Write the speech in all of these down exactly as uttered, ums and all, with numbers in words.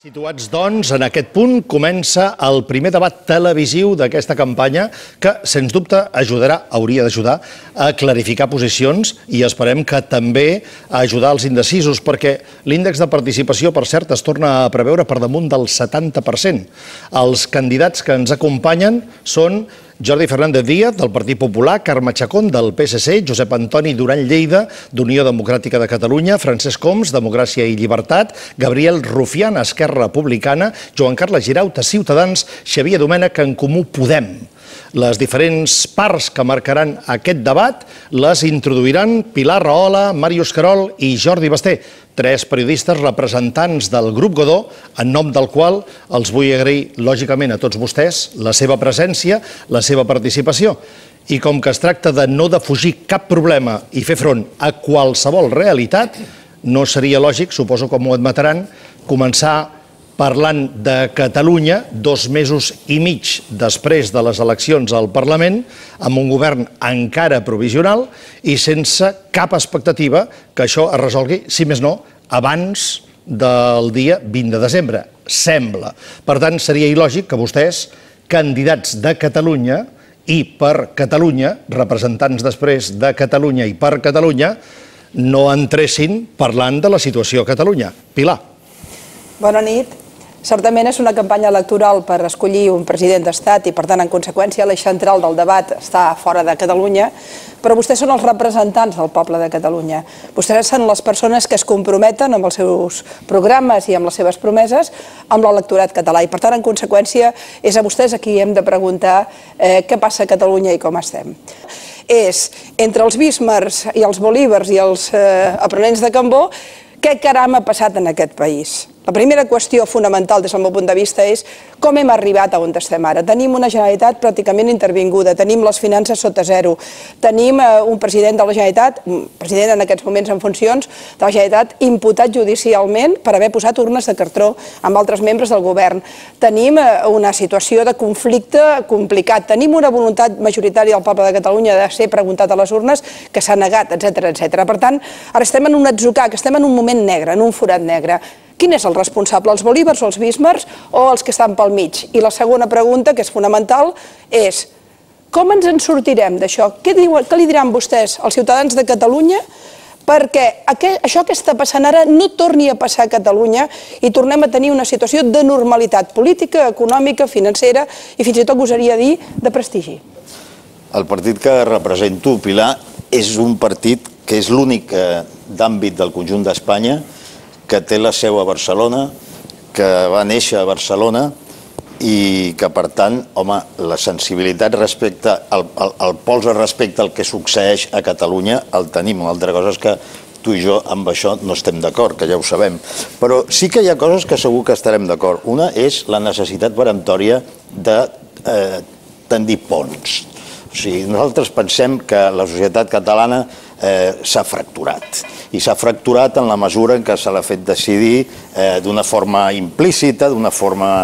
Situats, doncs, en aquest punt comença el primer debat televisiu d'aquesta campanya que, sens dubte, ajudarà, hauria d'ajudar a clarificar posicions i esperem que també a ajudar els indecisos, perquè l'índex de participació, per cert, es torna a preveure per damunt del setanta per cent. Els candidats que ens acompanyen són Jordi Fernández Díaz, del Partit Popular, Carme Chacón, del P S C, Josep Antoni Duran Lleida, d'Unió Democràtica de Catalunya, Francesc Homs, Democràcia i Llibertat, Gabriel Rufián, Esquerra Republicana, Joan Carles Giraut, Ciutadans, Xavier Domènech, En Comú Podem. Les diferents parts que marcaran aquest debat les introduiran Pilar Rahola, Màrius Querol i Jordi Basté, tres periodistes representants del Grup Godó, en nom del qual els vull agrair, lògicament, a tots vostès la seva presència, la seva participació. I com que es tracta de no defugir cap problema i fer front a qualsevol realitat, no seria lògic, suposo que m'ho admetaran, començar parlant de Catalunya dos mesos i mig després de les eleccions al Parlament, amb un govern encara provisional i sense cap expectativa que això es resolgui, si més no, abans del dia vint de desembre, sembla. Per tant, seria il·lògic que vostès, candidats de Catalunya i per Catalunya, representants després de Catalunya i per Catalunya, no entressin parlant de la situació a Catalunya. Pilar. Bona nit. Certament és una campanya electoral per escollir un president d'Estat i, per tant, en conseqüència, l'eix central del debat està fora de Catalunya, però vostès són els representants del poble de Catalunya. Vostès són les persones que es comprometen amb els seus programes i amb les seves promeses amb l'electorat català i, per tant, en conseqüència, és a vostès a qui hem de preguntar què passa a Catalunya i com estem. És, entre els Bismarcks i els Bolívars i els aprenents de Cambó, què caram ha passat en aquest país? La primera qüestió fonamental des del meu punt de vista és com hem arribat a on estem ara. Tenim una Generalitat pràcticament intervinguda, tenim les finances sota zero, tenim un president de la Generalitat, un president en aquests moments en funcions, de la Generalitat imputat judicialment per haver posat urnes de cartró amb altres membres del govern. Tenim una situació de conflicte complicat, tenim una voluntat majoritària del poble de Catalunya de ser preguntat a les urnes que s'ha negat, etcètera, etcètera. Per tant, ara estem en un atzucac, estem en un moment negre, en un forat negre. Quin és el responsable, els Bolívars o els Bismarcks o els que estan pel mig? I la segona pregunta, que és fonamental, és com ens en sortirem d'això? Què li diran vostès als ciutadans de Catalunya perquè això que està passant ara no torni a passar a Catalunya i tornem a tenir una situació de normalitat política, econòmica, financera i fins i tot gosaria dir de prestigi? El partit que represento, Pilar, és un partit que és l'únic d'àmbit del conjunt d'Espanya que té la seu a Barcelona, que va néixer a Barcelona i que, per tant, home, la sensibilitat respecte, el pols respecte al que succeeix a Catalunya el tenim. Una altra cosa és que tu i jo amb això no estem d'acord, que ja ho sabem. Però sí que hi ha coses que segur que estarem d'acord. Una és la necessitat peremptòria de tendir ponts. O sigui, nosaltres pensem que la societat catalana s'ha fracturat. I s'ha fracturat en la mesura en què se l'ha fet decidir d'una forma implícita, d'una forma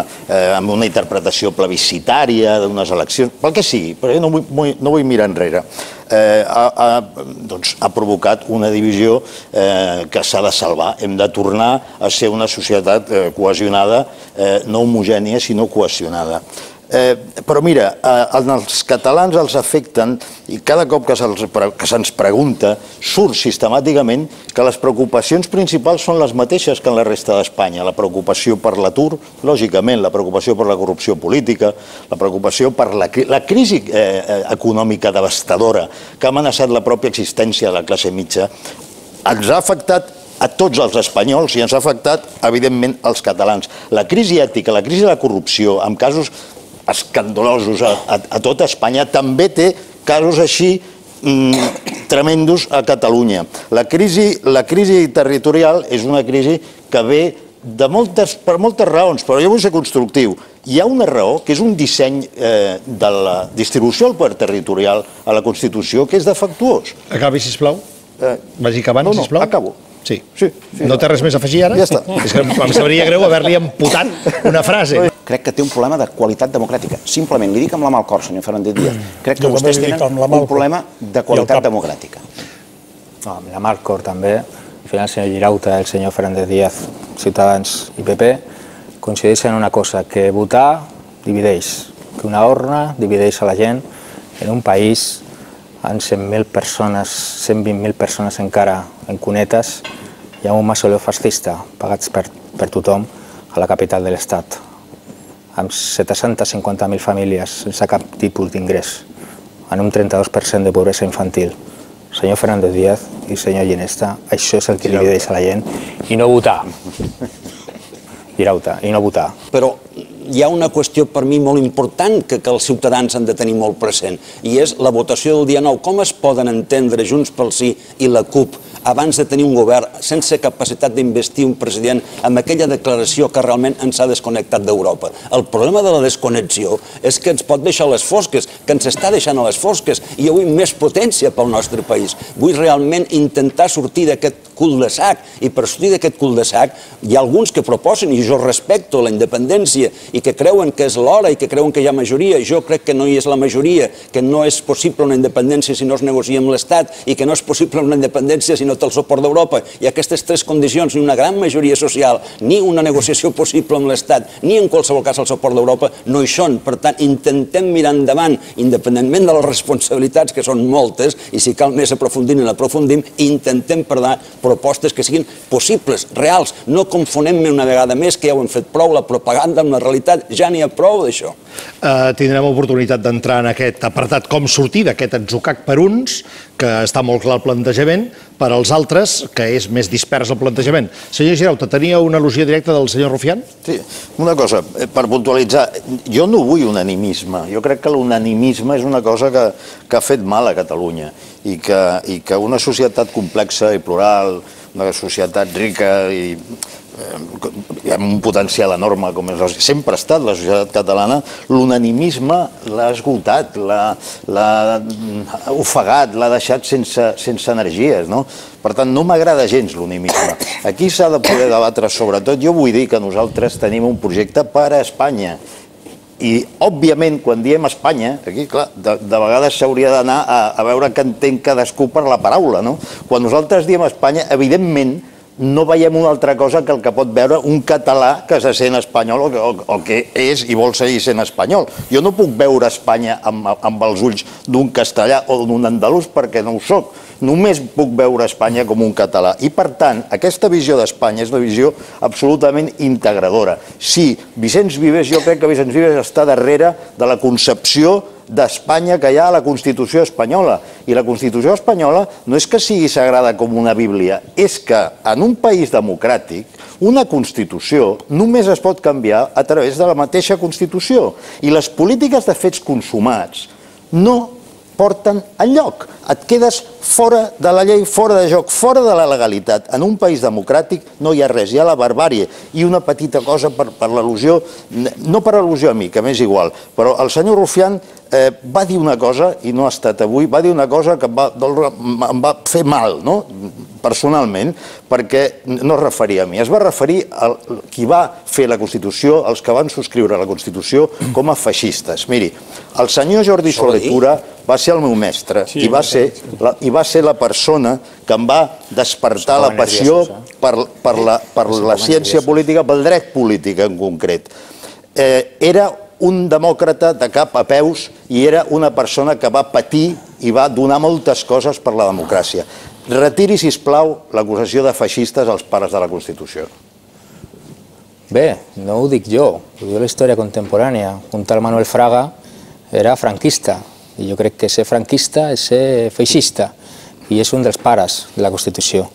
amb una interpretació plebiscitària d'unes eleccions, pel que sigui, però jo no vull mirar enrere. Ha provocat una divisió que s'ha de salvar. Hem de tornar a ser una societat cohesionada, no homogènia, sinó cohesionada. Però mira, els catalans els afecten i cada cop que se'ns pregunta surt sistemàticament que les preocupacions principals són les mateixes que en la resta d'Espanya. La preocupació per l'atur, lògicament, la preocupació per la corrupció política, la preocupació per la crisi econòmica devastadora que ha amenaçat la pròpia existència de la classe mitja. Ens ha afectat a tots els espanyols i ens ha afectat, evidentment, als catalans. La crisi ètica, la crisi de la corrupció, amb casos escandalosos a tota Espanya, també té casos així tremendos a Catalunya. La crisi territorial és una crisi que ve per moltes raons, però jo vull ser constructiu. Hi ha una raó, que és un disseny de la distribució del poder territorial a la Constitució, que és defectuós. Acabi, sisplau. Vagi acabant, sisplau. No, no, acabo. Sí. No té res més a afegir ara? Ja està. És que em sabria greu haver-li amputat una frase. Crec que té un problema de qualitat democràtica. Simplement, li dic amb la mà al cor, senyor Fernández Díaz. Crec que vostès tenen un problema de qualitat democràtica. Amb la mà al cor també. Al final, el senyor Girauta, el senyor Fernández Díaz, Ciutadans i P P, coincideixen en una cosa, que votar divideix, que una urna divideix a la gent. En un país amb cent mil persones, cent vint mil persones encara en cunetes, hi ha un mausoleu fascista pagats per, per tothom a la capital de l'Estat, amb set-cents cinquanta mil famílies sense cap tipus d'ingrés, en un trenta-dos per cent de pobresa infantil. Senyor Fernández Díaz i senyor Ginesta, això és el que divideix a la gent, i no votar. Girauta, i no votar. Però hi ha una qüestió per mi molt important que, que els ciutadans han de tenir molt present, i és la votació del dia nou. Com es poden entendre Junts pel Sí i la CUP abans de tenir un govern sense capacitat d'investir un president amb aquella declaració que realment ens ha desconnectat d'Europa? El problema de la desconnexió és que ens pot deixar a les fosques, que ens està deixant a les fosques, i jo vull més potència pel nostre país. Vull realment intentar sortir d'aquest cul de sac, i per sortir d'aquest cul de sac hi ha alguns que proposen, i jo respecto la independència, i que creuen que és l'hora i que creuen que hi ha majoria. Jo crec que no hi és la majoria, que no és possible una independència si no es negocia amb l'Estat, i que no és possible una independència si no té el suport d'Europa. I aquestes tres condicions, ni una gran majoria social, ni una negociació possible amb l'Estat, ni en qualsevol cas el suport d'Europa, no hi són. Per tant, intentem mirar endavant, independentment de les responsabilitats, que són moltes, i si cal més aprofundim i l'aprofundim, intentem per propostes que siguin possibles, reals. No confonem una vegada més, que ja ho hem fet prou, la propaganda amb la realitat. Ja n'hi ha prou d'això. Uh, tindrem oportunitat d'entrar en aquest apartat com sortir d'aquest atzucac per uns, que està molt clar el plantejament, per als altres, que és més dispers el plantejament. Senyor Girauta, tenia una al·lusió directa del senyor Rufián? Sí, una cosa, per puntualitzar, jo no vull unanimisme. Jo crec que l'unanimisme és una cosa que, que ha fet mal a Catalunya, i que, i que una societat complexa i plural, una societat rica i amb un potencial enorme com és, sempre ha estat la societat catalana, l'unanimisme l'ha esgotat, l'ha ofegat, l'ha deixat sense, sense energies, no? Per tant, no m'agrada gens l'unanimisme. Aquí s'ha de poder debatre sobretot. Jo vull dir que nosaltres tenim un projecte per a Espanya. I, òbviament, quan diem Espanya, aquí, clar, de, de vegades s'hauria d'anar a, a veure què entén cadascú per la paraula, no? Quan nosaltres diem Espanya, evidentment, no veiem una altra cosa que el que pot veure un català que se sent espanyol o que, o, o que és i vol seguir sent espanyol. Jo no puc veure Espanya amb, amb els ulls d'un castellà o d'un andalús perquè no ho soc. Només puc veure Espanya com un català. I, per tant, aquesta visió d'Espanya és una visió absolutament integradora. Sí, Vicenç Vives, jo crec que Vicenç Vives està darrere de la concepció d'Espanya que hi ha a la Constitució espanyola. I la Constitució espanyola no és que sigui sagrada com una Bíblia, és que en un país democràtic una Constitució només es pot canviar a través de la mateixa Constitució. I les polítiques de fets consumats no porten enlloc. Et quedes fora de la llei, fora de joc, fora de la legalitat. En un país democràtic no hi ha res, hi ha la barbàrie. I una petita cosa per, per l'al·lusió, no per al·lusió a mi, que m'és igual, però el senyor Rufián eh, va dir una cosa, i no ha estat avui, va dir una cosa que em va, em va fer mal, no? Personalment, perquè no es referia a mi, es va referir a qui va fer la Constitució, als que van subscriure la Constitució com a feixistes. Miri, el senyor Jordi Solé Tura va ser el meu mestre i va ser la, i va ser la persona que em va despertar la passió per, per, la, per la ciència política, pel dret polític en concret. Eh, era un demòcrata de cap a peus i era una persona que va patir i va donar moltes coses per la democràcia. Retiri, sisplau, l'acusació de feixistes als pares de la Constitució. Bé, no ho dic jo, ho diu la història contemporània. Un tal Manuel Fraga era franquista, i jo crec que ser franquista és ser feixista, i és un dels pares de la Constitució.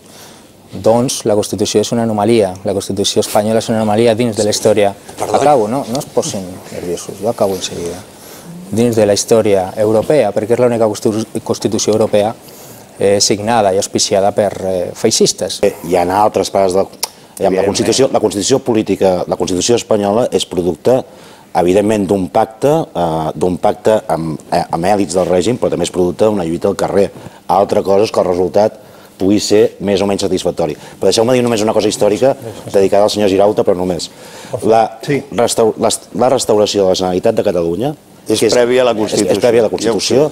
Doncs la Constitució és una anomalia, la Constitució espanyola és una anomalia dins de la història. Acabo, no, no es posin nerviosos, jo acabo en seguida. Dins de la història europea, perquè és l'única Constitució europea signada i auspiciada per feixistes. Hi ha altres pares de... La Constitució, la Constitució política, la Constitució espanyola és producte, evidentment, d'un pacte, d'un pacte amb, amb èlits del règim, però també és producte d'una lluita al carrer. Altra cosa és que el resultat pugui ser més o menys satisfactori. Però deixeu-me dir només una cosa històrica dedicada al senyor Girauta, però només. La, restaur, la, la restauració de la Generalitat de Catalunya És prèvia a la Constitució. És prèvia a la Constitució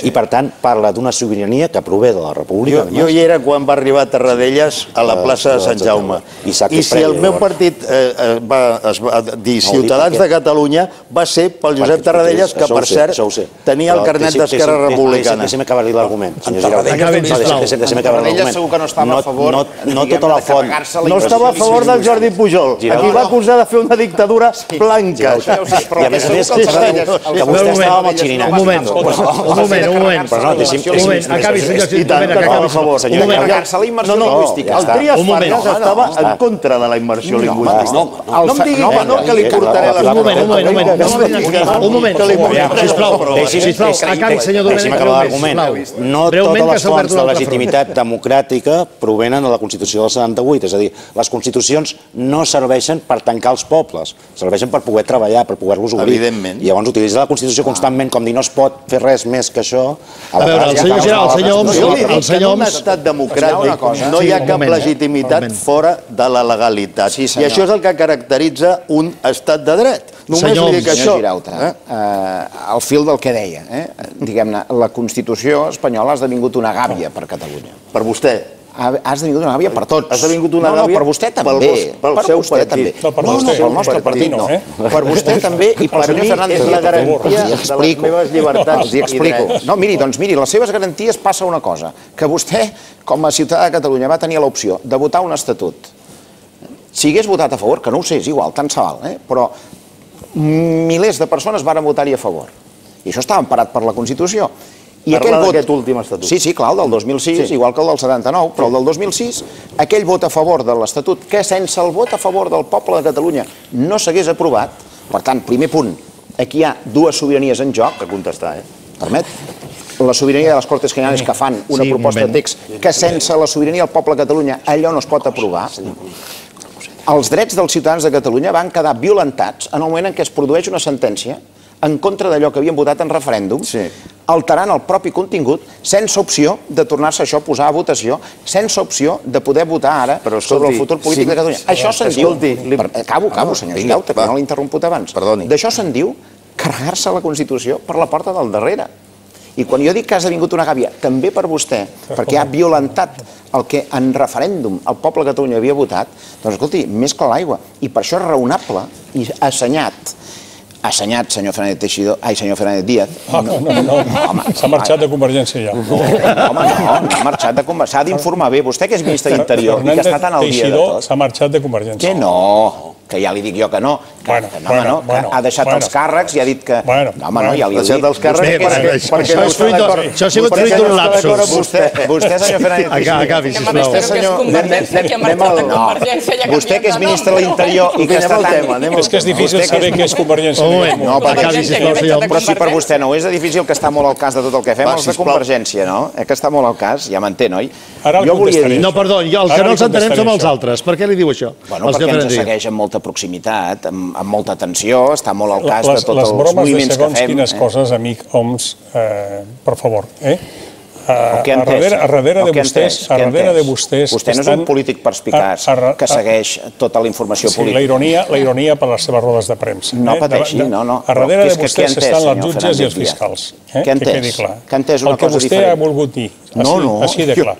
i, per tant, parla d'una sobirania que prové de la República. Jo hi era quan va arribar a Tarradellas a la plaça de Sant Jaume. I si el meu partit es va dir Ciutadans de Catalunya va ser pel Josep Tarradellas, que, per cert, tenia el carnet d'Esquerra Republicana. Deixa'm acabar de dir l'argument. Deixa'm acabar l'argument. Segur que no estava a favor de font. No estava a favor del Jordi Pujol. Aquí va acusar de fer una dictadura blanca. I a més a més, que vostè estava amb el xirinat. Un moment, un moment, un moment. Un moment, acabi, senyor Domènech, acabi. Un moment, carregar-se la immersió lingüística. El Trias Fargas estava en contra de la immersió lingüística. No em digui que no, que li portaré les... Un moment, un moment, un moment. Un moment, sisplau. Sisplau, acabi, senyor Domènech. Deixi'm acabar l'argument. No totes les fonts de legitimitat democràtica provenen de la Constitució del setanta-vuit. És a dir, les constitucions no serveixen per tancar els pobles, serveixen per poder treballar, per poder-los obrir. Evidentment. I llavors utilitzar la Constitució constantment com dir no es pot fer res més que això. A veure, el senyor Giral, el senyor Homs... El senyor Homs... En un estat democràtic no hi ha cap legitimitat fora de la legalitat. I això és el que caracteritza un estat de dret. Només li dic això. Al fil del que deia, diguem-ne, la Constitució espanyola ha esdevingut una gàbia per Catalunya. Per vostè. Ha esdevingut una gàbia per tots. Ha esdevingut una gàbia per vostè també. Pel seu partit. No, pel nostre partit no. Per vostè també i pel senyor Fernández. És la garantia de les meves llibertats i drets. No, miri, doncs miri, les seves garanties passa una cosa, que vostè, com a ciutadà de Catalunya, va tenir l'opció de votar un estatut. Si hagués votat a favor, que no ho sé, és igual, tant se val, però milers de persones varen votar-hi a favor. I això estava emparat per la Constitució. Parlar d'aquest últim estatut. Sí, sí, clar, el del dos mil sis, igual que el del setanta-nou, però el del dos mil sis, aquell vot a favor de l'Estatut, que sense el vot a favor del poble de Catalunya no s'hagués aprovat, per tant, primer punt, aquí hi ha dues sobiranies en joc. Per contestar, eh? Permet? La sobirania de les Cortes Generales que fan una proposta de text que sense la sobirania del poble de Catalunya allò no es pot aprovar. Els drets dels ciutadans de Catalunya van quedar violentats en el moment en què es produeix una sentència en contra d'allò que havien votat en referèndum, alterant el propi contingut, sense opció de tornar-se això a posar a votació, sense opció de poder votar ara sobre el futur polític de Catalunya. Això se'n diu... Acabo, acabo, senyor Girauta, que no l'he interromput abans. D'això se'n diu carregar-se la Constitució per la porta del darrere. I quan jo dic que ha esdevingut una gàbia, també per vostè, perquè ha violentat el que en referèndum el poble de Catalunya havia votat, doncs escolti, més que l'aigua. I per això és raonable i assenyat assenyat, senyor Fernández Teixidó, ai, senyor Fernández Díaz. No, no, no, s'ha marxat de Convergència ja. No, home, no, no ha marxat de Convergència. S'ha d'informar bé. Vostè que és ministre d'Interior i que està tan al dia de tot. Fernández Teixidó s'ha marxat de Convergència. Que no, que ja li dic jo que no, que ha deixat els càrrecs i ha dit que... No, home, no, ja li he dit. Ha deixat els càrrecs perquè no està d'acord. Això ha sigut fruit d'un lapsus. Vostè, senyor Fernández Teixidó... Acabi, sisplau. Vostè que és ministre de l'Interior i que està tan... És que és difícil saber què és Convergència. No, però si per vostè no és difícil, que està molt al cas de tot el que fem, els de Convergència, no? Eh que està molt al cas, ja m'entén, oi? Jo volia dir... No, perdó, el que no ens entenem som els altres. Per què li diu això? Bueno, perquè ens segueix amb molta proximitat, amb molta atenció, està molt al cas de tots els moviments que fem. Les bromes de segons quines coses, amic Homs, per favor, eh? A darrere de vostès... A darrere de vostès... Vostè no és un polític perspicaç que segueix tota la informació política. Sí, la ironia per les seves rodes de premsa. No pateixi, no, no. A darrere de vostès estan les jutges i els fiscals. Què ha entès? Que ha entès una cosa diferent. El que vostè ha volgut dir, així de clar.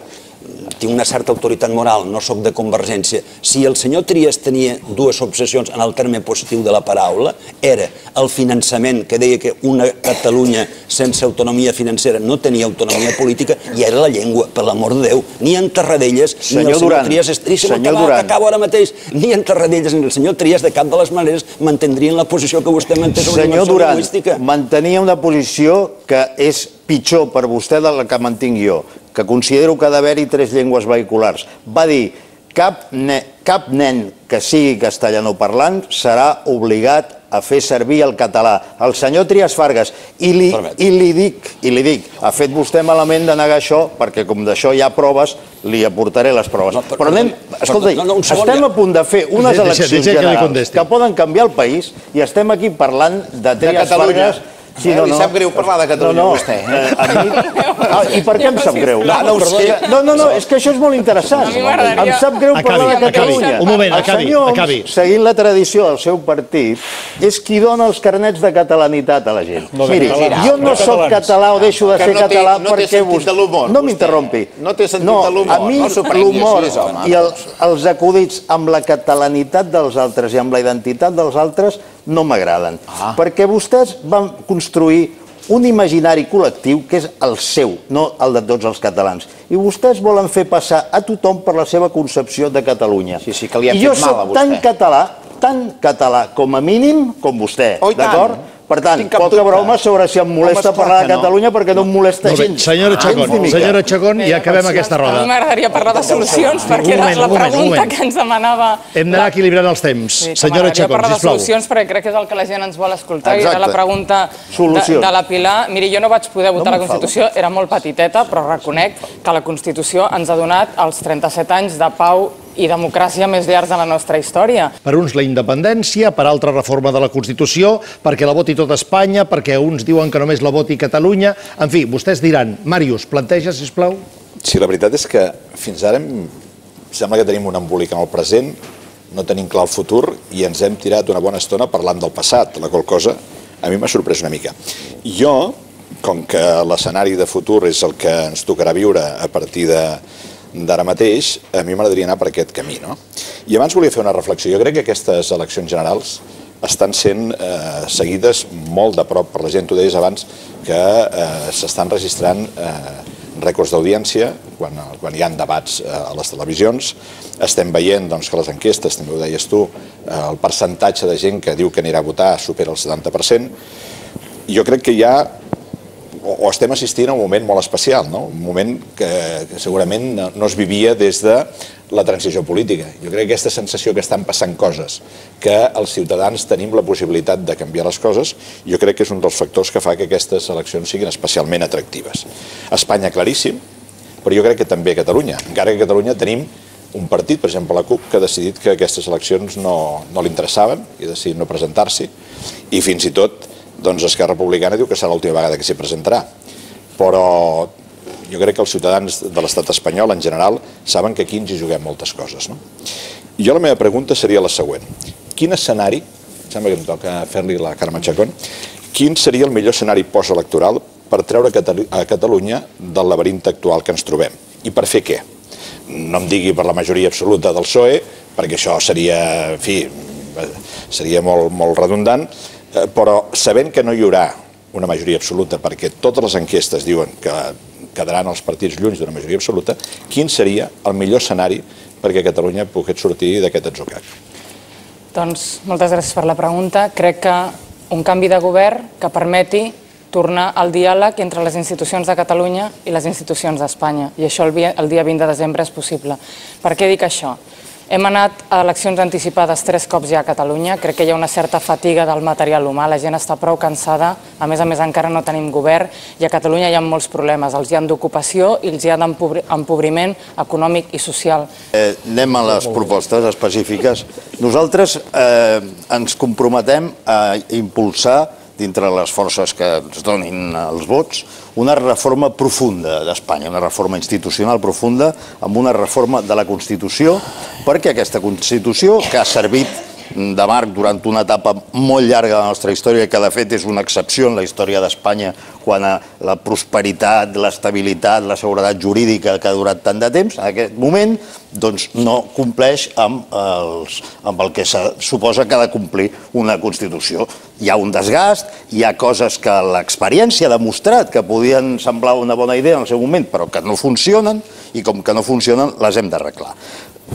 Tinc una certa autoritat moral, no sóc de Convergència. Si el senyor Trias tenia dues obsessions en el terme positiu de la paraula, era el finançament, que deia que una Catalunya sense autonomia financera no tenia autonomia política, i era la llengua, per l'amor de Déu. Ni en Tarradellas, ni el senyor Trias... Senyor Duran. Acabo ara mateix. Ni en Tarradellas ni el senyor Trias, de cap de les maneres, mantindrien la posició que vostè manté sobre la immersió lingüística. Senyor Duran, mantenia una posició que és pitjor per vostè de la que mantinc jo, que considero que ha d'haver-hi tres llengües vehiculars. Va dir, cap nen que sigui castellanoparlant serà obligat a fer servir el català. El senyor Trias Fargas, i li dic, i li dic, ha fet vostè malament de negar això, perquè com d'això hi ha proves, li aportaré les proves. Però anem, escolta, estem a punt de fer unes eleccions generals que poden canviar el país i estem aquí parlant de Trias Fargas Li sap greu parlar de Catalunya a vostè. I per què em sap greu? No, no, no, és que això és molt interessant. Em sap greu parlar de Catalunya. Un moment, acabi, acabi. Seguint la tradició del seu partit, és qui dona els carnets de catalanitat a la gent. Miri, jo no soc català o deixo de ser català perquè vostè... No m'interrompi. No té sentit de l'humor. A mi l'humor i els acudits amb la catalanitat dels altres i amb la identitat dels altres no m'agraden. Perquè vostès van construir un imaginari col·lectiu que és el seu, no el de tots els catalans. I vostès volen fer passar a tothom per la seva concepció de Catalunya. Sí, sí, que li ha fet mal a vostè. I jo soc tan català, tan català com a mínim com vostè, d'acord? Per tant, poca broma sobre si em molesta parlar de Catalunya perquè no em molesta gens. Senyora Chacón, senyora Chacón, ja acabem aquesta roda. A mi m'agradaria parlar de solucions perquè era la pregunta que ens demanava... Hem d'anar equilibrant els temps. Senyora Chacón, sisplau. M'agradaria parlar de solucions perquè crec que és el que la gent ens vol escoltar i era la pregunta de la Pilar. Miri, jo no vaig poder votar la Constitució, era molt petiteta, però reconec que la Constitució ens ha donat els trenta-set anys de pau i democràcia més llargs de la nostra història. Per uns la independència, per altra reforma de la Constitució, perquè la voti tota Espanya, perquè uns diuen que només la voti Catalunya. En fi, vostès diran. Màrius, planteja, sisplau. Sí, la veritat és que fins ara sembla que tenim un embolic en el present, no tenim clar el futur i ens hem tirat una bona estona parlant del passat, la qual cosa a mi m'ha sorprès una mica. Jo, com que l'escenari de futur és el que ens tocarà viure a partir de d'ara mateix, a mi m'agradaria anar per aquest camí, no? I abans volia fer una reflexió. Jo crec que aquestes eleccions generals estan sent eh, seguides molt de prop per la gent. Tu deies abans que eh, s'estan registrant eh, rècords d'audiència quan, quan hi ha debats eh, a les televisions. Estem veient doncs, que les enquestes, també ho deies tu, eh, el percentatge de gent que diu que anirà a votar supera el setanta per cent. Jo crec que hi ha o estem assistint a un moment molt especial, no? Un moment que, que segurament no, no es vivia des de la transició política. Jo crec que aquesta sensació que estan passant coses, que els ciutadans tenim la possibilitat de canviar les coses, jo crec que és un dels factors que fa que aquestes eleccions siguin especialment atractives. A Espanya, claríssim, però jo crec que també a Catalunya. Encara que a Catalunya tenim un partit, per exemple la CUP, que ha decidit que aquestes eleccions no, no li interessaven i ha decidit no presentar-s'hi, i fins i tot doncs Esquerra Republicana diu que serà l'última vegada que s'hi presentarà. Però jo crec que els ciutadans de l'estat espanyol en general saben que aquí ens hi juguem moltes coses, no? Jo la meva pregunta seria la següent. Quin escenari, em sembla que em toca fer-li la Carme Chacón, quin seria el millor escenari postelectoral per treure a Catalunya del laberint actual que ens trobem? I per fer què? No em digui per la majoria absoluta del P S O E, perquè això seria, en fi, seria molt, molt redundant, però sabent que no hi haurà una majoria absoluta, perquè totes les enquestes diuen que quedaran els partits lluny d'una majoria absoluta, quin seria el millor escenari perquè Catalunya pogués sortir d'aquest atzucac? Doncs moltes gràcies per la pregunta. Crec que un canvi de govern que permeti tornar al diàleg entre les institucions de Catalunya i les institucions d'Espanya. I això el dia vint de desembre és possible. Per què dic això? Hem anat a eleccions anticipades tres cops ja a Catalunya. Crec que hi ha una certa fatiga del material humà. La gent està prou cansada. A més a més, encara no tenim govern i a Catalunya hi ha molts problemes. Els hi ha d'ocupació i els hi ha d'empobriment econòmic i social. Eh, anem a les propostes específiques. Nosaltres eh, ens comprometem a impulsar, dintre les forces que ens donin els vots, una reforma profunda d'Espanya, una reforma institucional profunda, amb una reforma de la Constitució, perquè aquesta Constitució, que ha servit de marc durant una etapa molt llarga de la nostra història, que de fet és una excepció en la història d'Espanya quan a la prosperitat, l'estabilitat, la seguretat jurídica que ha durat tant de temps, en aquest moment doncs no compleix amb, els, amb el que se suposa que ha de complir una Constitució. Hi ha un desgast, hi ha coses que l'experiència ha demostrat que podien semblar una bona idea en el seu moment, però que no funcionen, i com que no funcionen les hem d'arreglar.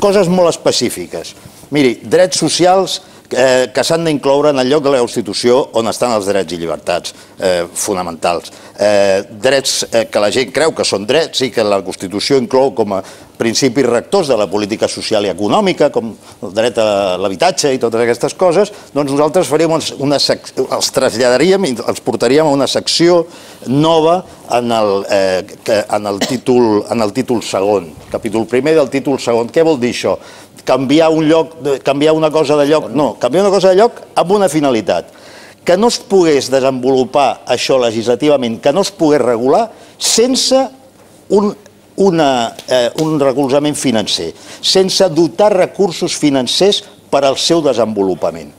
Coses molt específiques. Miri, drets socials eh, que s'han d'incloure en el lloc de la Constitució on estan els drets i llibertats eh, fonamentals. Eh, drets eh, que la gent creu que són drets i que la Constitució inclou com a principis rectors de la política social i econòmica, com el dret a l'habitatge i totes aquestes coses, doncs nosaltres faríem una sec... els traslladaríem i els portaríem a una secció nova en el, eh, en el, títol, en el títol segon, capítol primer del títol segon. Què vol dir això? Canviar un lloc, canviar una cosa de lloc? No, canviar una cosa de lloc amb una finalitat. que no es pogués desenvolupar això legislativament, que no es pogués regular sense un, una, eh, un recolzament financer, sense dotar recursos financers per al seu desenvolupament.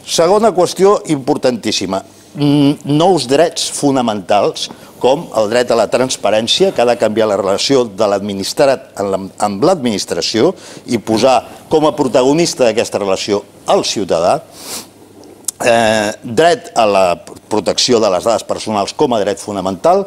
Segona qüestió importantíssima, nous drets fonamentals, com el dret a la transparència, que ha de canviar la relació de l'administrat amb l'administració i posar com a protagonista d'aquesta relació el ciutadà, eh, dret a la protecció de les dades personals com a dret fonamental.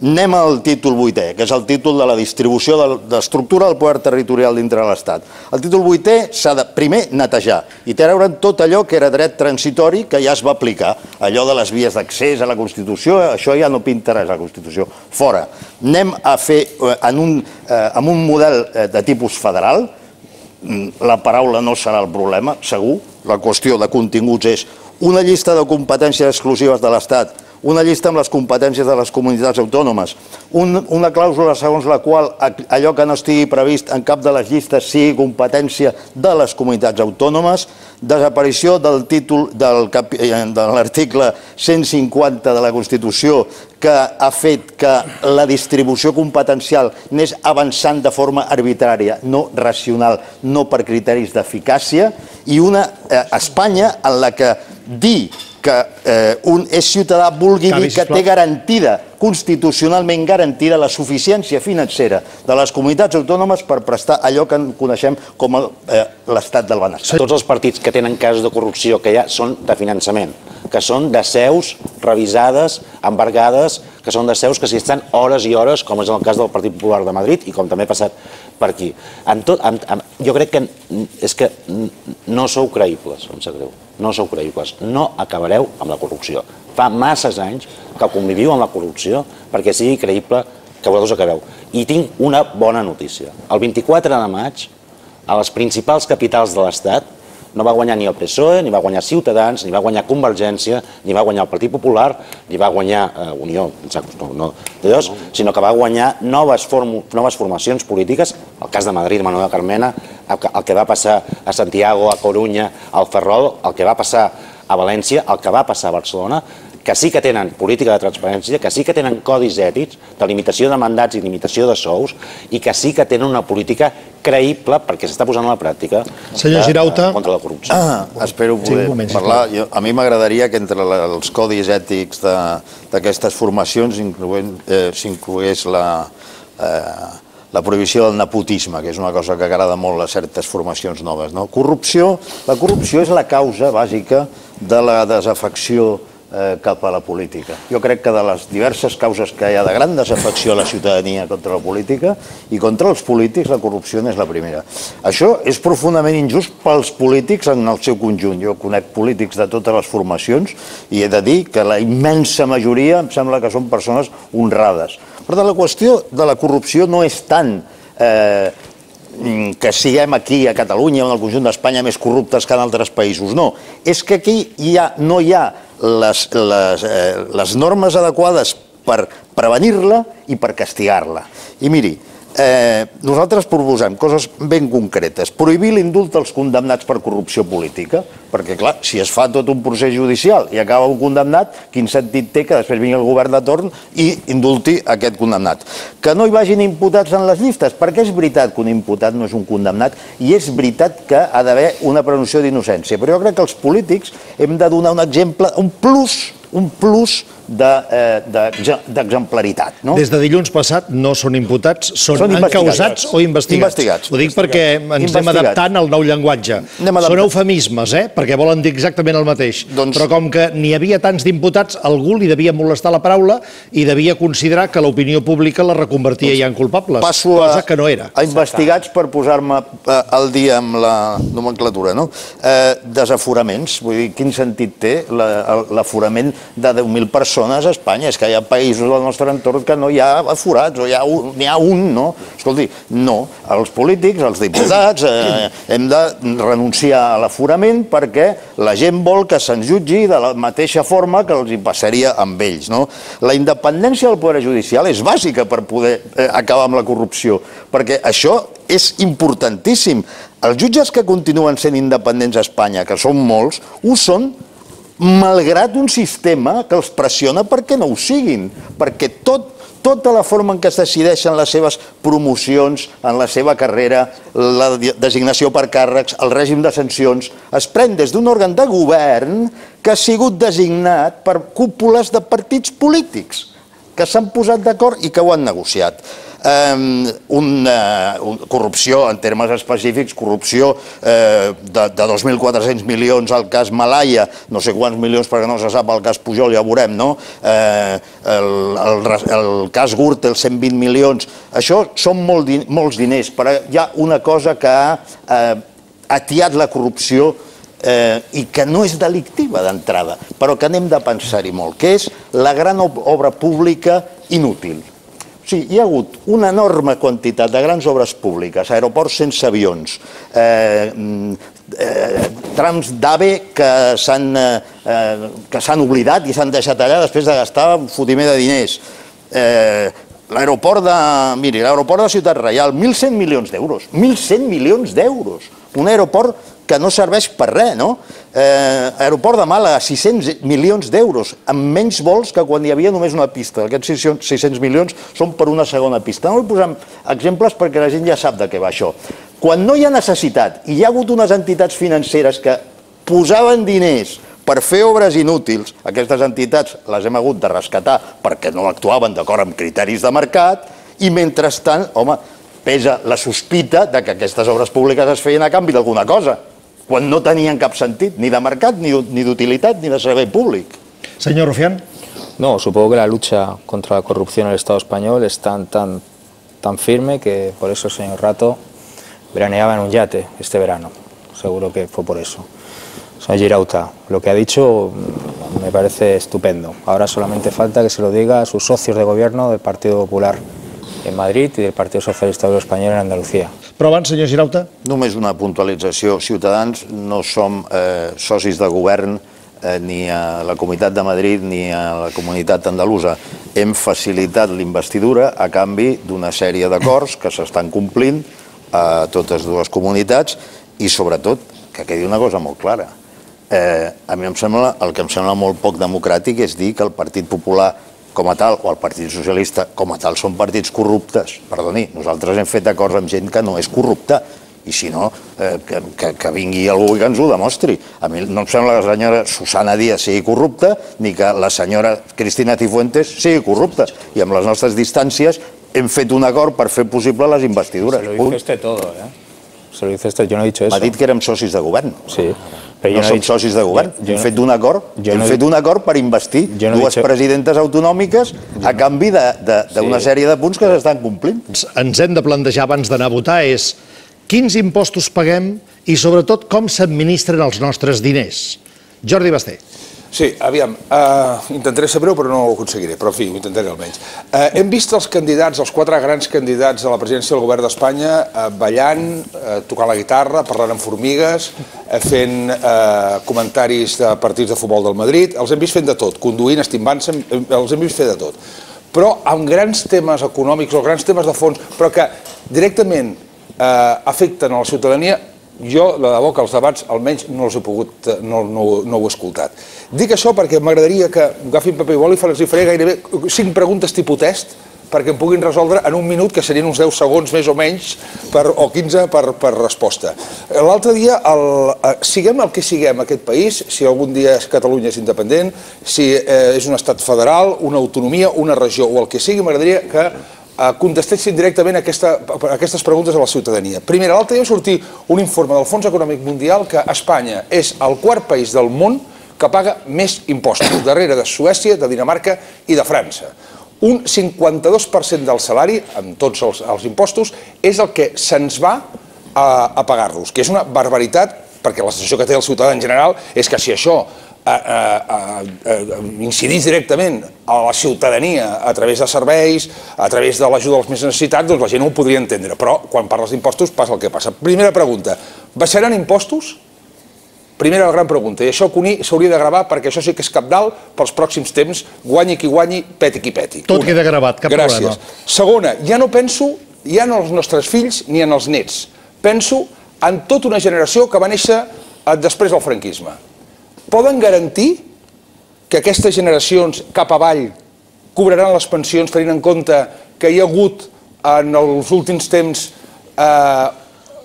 Anem al títol vuitè, que és el títol de la distribució de l'estructura del poder territorial dintre de l'Estat. El títol vuitè s'ha de, primer, netejar i treure'n tot allò que era dret transitori que ja es va aplicar. Allò de les vies d'accés a la Constitució, això ja no pinta res a la Constitució. Fora. Anem a fer, en un, amb un model de tipus federal, la paraula no serà el problema, segur. La qüestió de continguts és una llista de competències exclusives de l'Estat, una llista amb les competències de les comunitats autònomes, un, una clàusula segons la qual allò que no estigui previst en cap de les llistes sigui competència de les comunitats autònomes, desaparició del títol del, de l'article cent cinquanta de la Constitució que ha fet que la distribució competencial anés avançant de forma arbitrària, no racional, no per criteris d'eficàcia, i una eh, Espanya en la que dir que eh, un és ciutadà vulgui dir que té garantida, constitucionalment garantida, la suficiència financera de les comunitats autònomes per prestar allò que coneixem com eh, l'estat del benestar. Tots els partits que tenen casos de corrupció que hi ha són de finançament, que són de seus revisades, embargades, que són de seus que s'hi estan hores i hores, com és el cas del Partit Popular de Madrid i com també ha passat per aquí. En tot, en, en, jo crec que és que no sou creïbles, em sap greu. No sou creïbles, no acabareu amb la corrupció. Fa masses anys que conviviu amb la corrupció perquè sigui creïble que vosaltres acabeu. I tinc una bona notícia. El vint-i-quatre de maig, a les principals capitals de l'Estat, no va guanyar ni el P S O E, ni va guanyar Ciutadans, ni va guanyar Convergència, ni va guanyar el Partit Popular, ni va guanyar eh, Unió, no, no, de dos, sinó que va guanyar noves, noves formacions polítiques, el cas de Madrid, Manuel Carmena, el que va passar a Santiago, a Corunya, al Ferrol, el que va passar a València, el que va passar a Barcelona, que sí que tenen política de transparència, que sí que tenen codis ètics de limitació de mandats i limitació de sous i que sí que tenen una política creïble perquè s'està posant a la pràctica contra la corrupció. Ah, espero poder parlar. Jo, a mi m'agradaria que entre la, els codis ètics d'aquestes formacions eh, s'inclogués la... Eh, la prohibició del nepotisme, que és una cosa que agrada molt a certes formacions noves. No? Corrupció, la corrupció és la causa bàsica de la desafecció eh, cap a la política. Jo crec que de les diverses causes que hi ha de gran desafecció a la ciutadania contra la política i contra els polítics, la corrupció és la primera. Això és profundament injust pels polítics en el seu conjunt. Jo conec polítics de totes les formacions i he de dir que la immensa majoria em sembla que són persones honrades. Per tant, la qüestió de la corrupció no és tant eh, que siguem aquí a Catalunya o en el conjunt d'Espanya més corruptes que en altres països. No, és que aquí hi ha, no hi ha les, les, eh, les normes adequades per prevenir-la i per castigar-la. I miri, eh, nosaltres proposem coses ben concretes. Prohibir l'indult als condemnats per corrupció política, perquè, clar, si es fa tot un procés judicial i acaba un condemnat, quin sentit té que després vingui el govern de torn i indulti aquest condemnat? Que no hi vagin imputats en les llistes, perquè és veritat que un imputat no és un condemnat i és veritat que ha d'haver una presumpció d'innocència. Però jo crec que els polítics hem de donar un exemple, un plus, un plus d'exemplaritat. Des de dilluns passat no són imputats, són encausats o investigats. Ho dic perquè ens anem adaptant al nou llenguatge. Són eufemismes, eh? Perquè volen dir exactament el mateix. Però com que n'hi havia tants d'imputats, algú li devia molestar la paraula i devia considerar que l'opinió pública la reconvertia ja en culpables, cosa que no era. A investigats, per posar-me al dia amb la nomenclatura, no? Desaforaments, vull dir, quin sentit té l'aforament de deu mil persones a Espanya? És que hi ha països del nostre entorn que no hi ha aforats, o n'hi ha un, no? Escolti, no. Els polítics, els diputats, hem de renunciar a l'aforament perquè la gent vol que se'ns jutgi de la mateixa forma que els hi passaria amb ells, no? La independència del poder judicial és bàsica per poder acabar amb la corrupció, perquè això és importantíssim. Els jutges que continuen sent independents a Espanya, que són molts, ho són malgrat un sistema que els pressiona perquè no ho siguin, perquè tot tota la forma en què es decideixen les seves promocions en la seva carrera, la designació per càrrecs, el règim de sancions, es pren des d'un òrgan de govern que ha sigut designat per cúpules de partits polítics que s'han posat d'acord i que ho han negociat. Una corrupció, en termes específics, corrupció de dos mil quatre-cents milions al cas Malaya, no sé quants milions perquè no se sap el cas Pujol, ja veurem, no? El cas Gürtel, cent vint milions. Això són molts diners, però hi ha una cosa que ha atiat la corrupció i que no és delictiva d'entrada, però que n'hem de pensar-hi molt, que és la gran obra pública inútil. Sí, hi ha hagut una enorme quantitat de grans obres públiques, aeroports sense avions, trams d'AVE que s'han oblidat i s'han deixat allà després de gastar un fotimer de diners. L'aeroport de, miri, l'aeroport de Ciutat Reial, mil cent milions d'euros, mil cent milions d'euros, un aeroport que no serveix per res, no? Aeroport de Màlaga, sis-cents milions d'euros, amb menys vols que quan hi havia només una pista. Aquests sis-cents milions són per una segona pista. No vull posar exemples perquè la gent ja sap de què va això. Quan no hi ha necessitat i hi ha hagut unes entitats financeres que posaven diners per fer obres inútils, aquestes entitats les hem hagut de rescatar perquè no actuaven d'acord amb criteris de mercat i mentrestant, home, pesa la sospita de que aquestes obres públiques es feien a canvi d'alguna cosa, quan no tenien cap sentit, ni de mercat, ni d'utilitat, ni de servei públic. Señor Rufián. No, supongo que la lucha contra la corrupción en el Estado español es tan, tan, tan firme que por eso el señor Rato veraneaba en un yate este verano. Seguro que fue por eso. Señor Girauta, lo que ha dicho me parece estupendo. Ahora solamente falta que se lo diga a sus socios de gobierno del Partido Popular en Madrid i del Partit Socialista Obrero Espanyol en Andalucía. Però abans, senyor Girauta. Només una puntualització. Ciutadans no som socis de govern ni a la Comunitat de Madrid ni a la Comunitat Andalusa. Hem facilitat l'investidura a canvi d'una sèrie d'acords que s'estan complint a totes dues comunitats i, sobretot, que quedi una cosa molt clara. A mi em sembla, el que em sembla molt poc democràtic és dir que el Partit Popular com a tal, o el Partit Socialista com a tal, són partits corruptes. Perdoni, nosaltres hem fet acords amb gent que no és corrupta, i si no, que vingui algú i que ens ho demostri. A mi no em sembla que la senyora Susana Díaz sigui corrupta, ni que la senyora Cristina Cifuentes sigui corrupta. I amb les nostres distàncies hem fet un acord per fer possible les investidures. Se lo dice usted todo, ¿eh? Se lo dice usted, yo no he dicho eso. M'ha dit que érem socis de govern. Sí. No som socis de govern. Hem fet un acord hem fet un acord per investir dues presidentes autonòmiques a canvi d'una sèrie de punts que s'estan complint. Ens hem de plantejar abans d'anar a votar és quins impostos paguem i sobretot com s'administren els nostres diners. Jordi Basté. Sí, aviam, intentaré ser breu però no ho aconseguiré, però en fi, ho intentaré almenys. Hem vist els candidats, els quatre grans candidats a la presidència del govern d'Espanya ballant, tocant la guitarra, parlant amb formigues, fent comentaris de partits de futbol del Madrid, els hem vist fent de tot, conduint, estimbant-se, els hem vist fer de tot. Però amb grans temes econòmics o grans temes de fons, però que directament afecten a la ciutadania, jo, de debò, que els debats almenys no els he pogut, no ho he escoltat. Dic això perquè m'agradaria que agafin paper i boli i els faré gairebé cinc preguntes tipus test perquè em puguin resoldre en un minut, que serien uns deu segons més o menys, o quinze per resposta. L'altre dia, siguem el que siguem aquest país, si algun dia Catalunya és independent, si és un estat federal, una autonomia, una regió o el que sigui, m'agradaria que contestessin directament aquestes preguntes a la ciutadania. Primer, l'altre dia va sortir un informe del Fons Econòmic Mundial que Espanya és el quart país del món que paga més impostos, darrere de Suècia, de Dinamarca i de França. Un cinquanta-dos per cent del salari, amb tots els impostos, és el que se'ns va a pagar-los, que és una barbaritat, perquè la sensació que té el ciutadà en general és que si això incidís directament a la ciutadania a través de serveis, a través de l'ajuda als més necessitats, doncs la gent ho podria entendre. Però quan parles d'impostos passa el que passa. Primera pregunta, baixaran impostos? Primera gran pregunta, i això Cuní s'hauria de gravar perquè això sí que és cabdal pels pròxims temps, guanyi qui guanyi, peti qui peti. Tot queda gravat, cap problema. Segona, ja no penso ja en els nostres fills ni en els nets. Penso en tota una generació que va néixer després del franquisme. poden garantir que aquestes generacions cap avall cobraran les pensions tenint en compte que hi ha hagut en els últims temps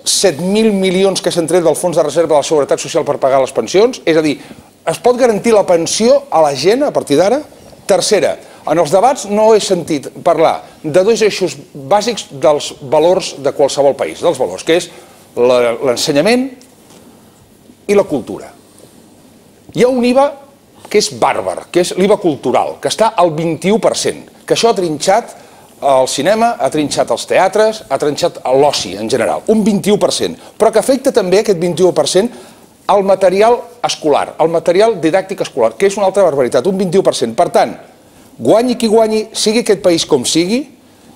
set mil milions que s'han tret del fons de reserva de la Seguretat Social per pagar les pensions? És a dir, es pot garantir la pensió a la gent a partir d'ara? Tercera, en els debats no he sentit parlar de dos eixos bàsics dels valors de qualsevol país, dels valors, que és l'ensenyament i la cultura. Hi ha un I V A que és bàrbar, que és l'I V A cultural, que està al vint-i-u per cent, que això ha trinxat el cinema, ha trinxat els teatres, ha trinxat l'oci en general, un vint-i-u per cent, però que afecta també aquest vint-i-u per cent al material escolar, al material didàctic escolar, que és una altra barbaritat, un vint-i-u per cent. Per tant, guanyi qui guanyi, sigui aquest país com sigui,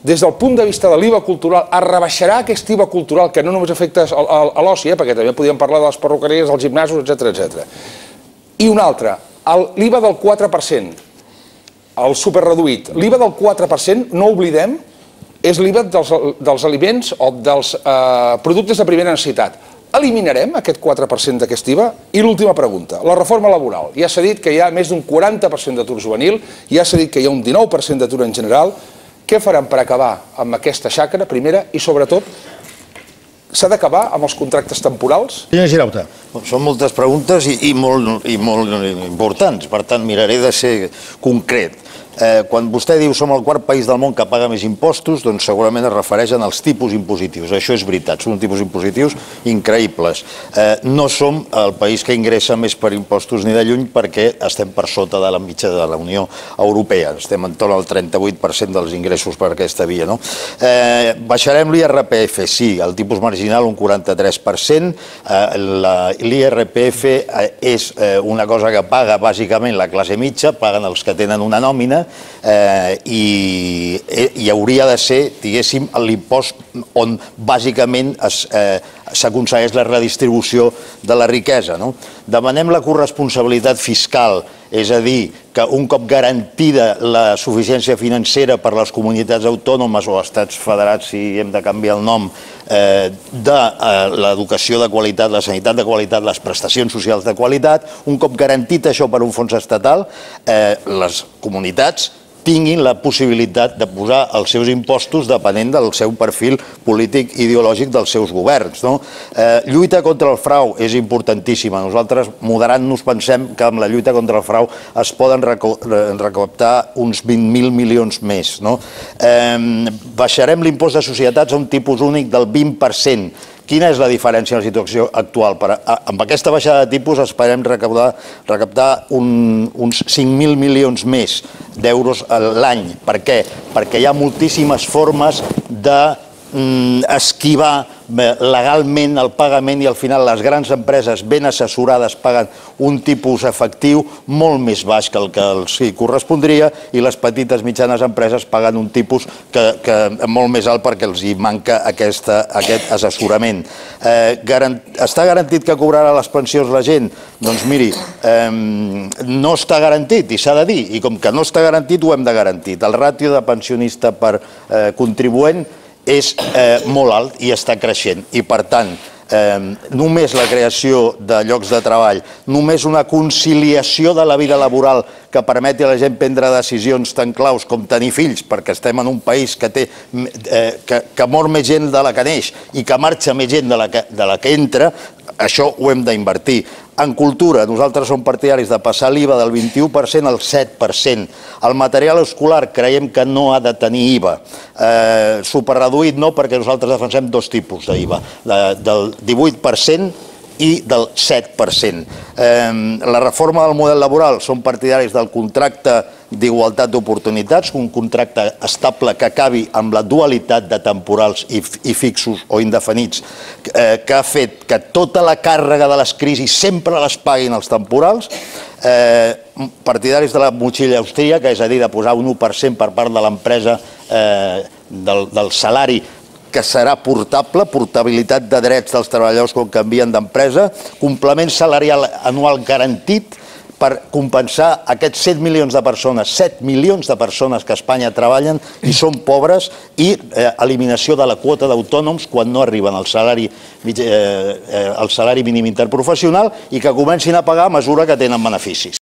des del punt de vista de l'I V A cultural, es rebaixarà aquest I V A cultural, que no només afecta a l'oci, perquè també podíem parlar de les perruqueries, dels gimnasos, etcètera, etcètera. I un altre, l'I V A del quatre per cent, el superreduït. L'I V A del quatre per cent, no oblidem, és l'I V A dels aliments o dels productes de primera necessitat. Eliminarem aquest quatre per cent d'aquest I V A? I l'última pregunta, la reforma laboral. Ja s'ha dit que hi ha més d'un quaranta per cent d'atur juvenil, ja s'ha dit que hi ha un dinou per cent d'atur en general. Què faran per acabar amb aquesta xacra, primera, i sobretot, s'ha d'acabar amb els contractes temporals? Senyor Girauta. Són moltes preguntes i molt importants, per tant miraré de ser concret. Quan vostè diu som el quart país del món que paga més impostos, doncs segurament es refereixen als tipus impositius. Això és veritat, són tipus impositius increïbles. No som el país que ingressa més per impostos ni de lluny perquè estem per sota de la mitja de la Unió Europea. Estem en torn al trenta-vuit per cent dels ingressos per aquesta via. Baixarem l'I R P F, sí, el tipus marginal un quaranta-tres per cent. L'I R P F és una cosa que paga bàsicament la classe mitja, paguen els que tenen una nòmina, i hauria de ser, diguéssim, l'impost on bàsicament s'aconsegueix la redistribució de la riquesa. Demanem la corresponsabilitat fiscal, és a dir, que un cop garantida la suficiència financera per les comunitats autònomes o estats federats, si hem de canviar el nom, de l'educació de qualitat, la sanitat de qualitat, les prestacions socials de qualitat, un cop garantit això per un fons estatal, les comunitats tinguin la possibilitat de posar els seus impostos depenent del seu perfil polític ideològic dels seus governs. Lluita contra el frau és importantíssima. Nosaltres, moderant-nos, pensem que amb la lluita contra el frau es poden recaptar uns vint mil milions més. Baixarem l'impost de societats a un tipus únic del vint per cent. Quina és la diferència en la situació actual? Amb aquesta baixada de tipus esperem recaptar uns cinc mil milions més d'euros l'any. Per què? Perquè hi ha moltíssimes formes d'esquivar legalment el pagament i al final les grans empreses ben assessorades paguen un tipus efectiu molt més baix que el que els correspondria i les petites mitjanes empreses paguen un tipus molt més alt perquè els hi manca aquest assessorament. Està garantit que cobrarà les pensions la gent? Doncs miri, no està garantit i s'ha de dir, i com que no està garantit ho hem de garantir. El ràtio de pensionista per contribuent és molt alt i està creixent i per tant només la creació de llocs de treball, només una conciliació de la vida laboral que permeti a la gent prendre decisions tan claus com tenir fills, perquè estem en un país que mor més gent de la que neix i que marxa més gent de la que entra, això ho hem d'invertir. En cultura, nosaltres som partidaris de passar l'I V A del vint-i-u per cent al set per cent. El material escolar creiem que no ha de tenir I V A. Superreduït no, perquè nosaltres defensem dos tipus d'I V A, del divuit per cent i del set per cent. La reforma del model laboral, som partidaris del contracte d'igualtat d'oportunitats, un contracte estable que acabi amb la dualitat de temporals i fixos o indefinits, que ha fet que tota la càrrega de les crisis sempre les paguin els temporals, partidaris de la motxilla austríaca, és a dir, de posar un u per cent per part de l'empresa del salari que serà portable, portabilitat de drets dels treballadors quan canvien d'empresa, complement salarial anual garantit per compensar aquests set milions de persones, set milions de persones que a Espanya treballen i són pobres, i eliminació de la quota d'autònoms quan no arriben al salari, al salari mínim interprofessional i que comencin a pagar a mesura que tenen beneficis.